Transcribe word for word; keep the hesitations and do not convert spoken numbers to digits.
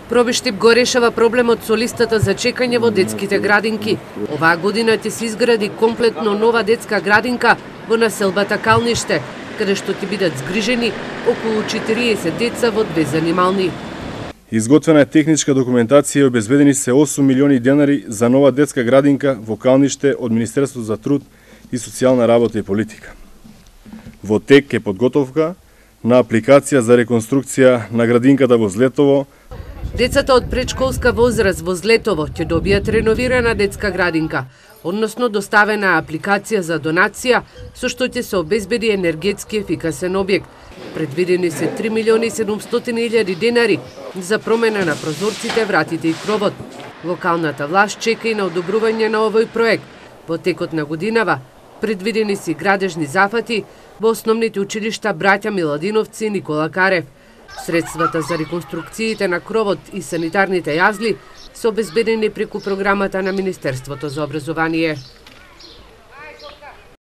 Пробиштип го решава проблемот со листата за чекање во детските градинки. Оваа година ќе се изгради комплетно нова детска градинка во населбата Калниште, каде што ќе бидат згрижени околу четириесет деца во две занимални. Изготвена е техничка документација и обезбедени се осум милиони денари за нова детска градинка во Калниште од Министерството за труд и социјална работа и политика. Во тек е подготовка на апликација за реконструкција на градинката во Злетово. Децата од предшколска возраст во Злетово ќе добијат реновирана детска градинка, односно доставена апликација за донација со што ќе се обезбеди енергетски ефикасен објект. Предвидени се три милиони седумстотини илјади денари за промена на прозорците, вратите и кровот. Локалната власт чека и на одобрување на овој проект. Во текот на годинава предвидени се градежни зафати во основните училишта Браќа Миладиновци и Никола Карев. Средствата за реконструкциите на кровот и санитарните јазли се обезбедени преку програмата на Министерството за образование.